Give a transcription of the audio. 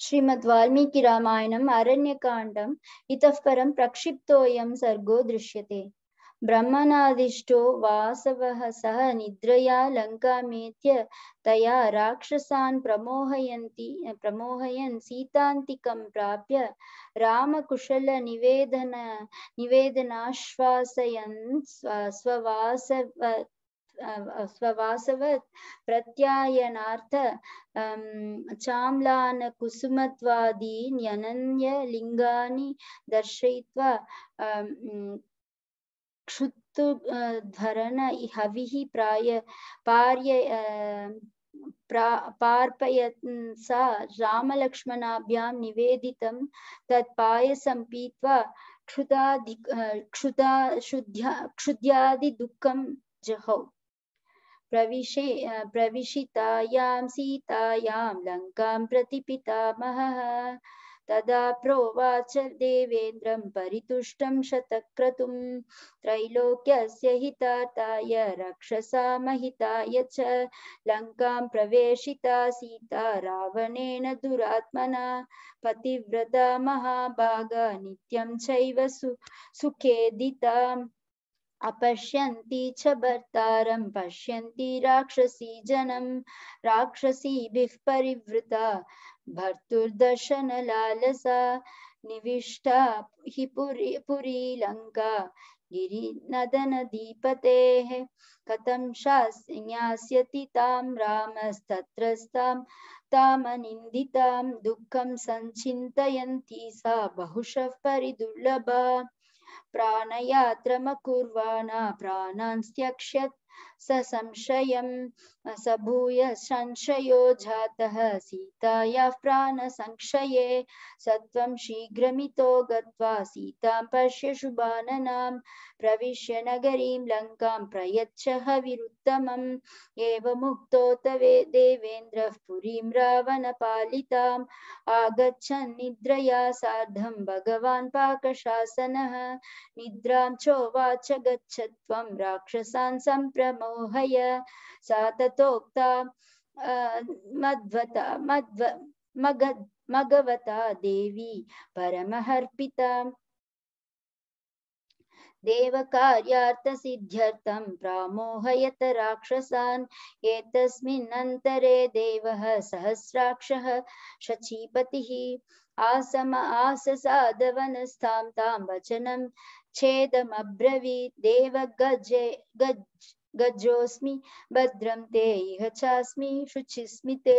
श्रीमद् वाल्मीकि रामायणम् अरण्यकाण्डम् इतः परं प्रक्षिप्तोऽयं सर्गो दृश्यते। ब्रह्मणादिष्टो वासवः सह निद्रया लङ्कामेत्य तया राक्षसान् प्रमोहयन् सीतान्तिकं प्राप्य निवेदनाश्वासयन् स्ववासवत् प्रत्यायनार्थ चाम्लानकुसुमत्वादीन्यनन्यलिङ्गानि दर्शयित्वा क्षुत्तुधरन हविः पार्पयन् सा रामलक्ष्मणाभ्यां निवेदितं तत्पायसं पीत्वा क्षुद्यादिदुःखं जहौ। प्रविशितायां सीतायां लङ्कां प्रति पितामहः तदा प्रोवाच देवेन्द्रं परितुष्टं शतक्रतुं त्रैलोक्यस्य हितार्थाय रक्षसामहिताय च लङ्कां प्रवेशिता सीता रावणेन दुरात्मना पतिव्रता महाभागा नित्यं चैव सुखेदिता अपश्यन्ति च भर्तारं पश्यन्ति राक्षसी जनं राक्षसीभिः परिवृता भर्तुर्दर्शनलालसा निविष्टा हि पुरी लङ्का गिरिनदनदीपतेः कथं ज्ञास्यति तां रामस्तत्रस्तां तामनिन्दितां दुःखं सञ्चिन्तयन्ती सा बहुशः परिदुर्लभा प्राणयात्रमकुर्वाणा प्राणान् त्यक्ष्यत् संशयं भूय संशयो जातः सीतायाः प्राणसंशये सत्वं शीघ्रमितो गत्वा सीतां पश्य शुभाननां प्रविश्य नगरीं लङ्कां प्रयच्छ हविरुत्तमम् एवमुक्तो देवेन्द्रः पुरीं रावणपालिताम् आगच्छन् निद्रया सार्धं भगवान् पाकशासनः निद्रां चोवाच गच्छ त्वं राक्षसान् सम्प्रमोहय सा ततोक्ता मघवता देवी परमहर्पिता देवकार्यार्थसिद्ध्यर्थं प्रामोहयत राक्षसान् एतस्मिन्नन्तरे देवः सहस्राक्षः शचीपतिः आससादवनस्थां तां वचनं छेदमब्रवीत् देव गजोऽस्मि भद्रं ते इह चास्मि शुचिस्मि ते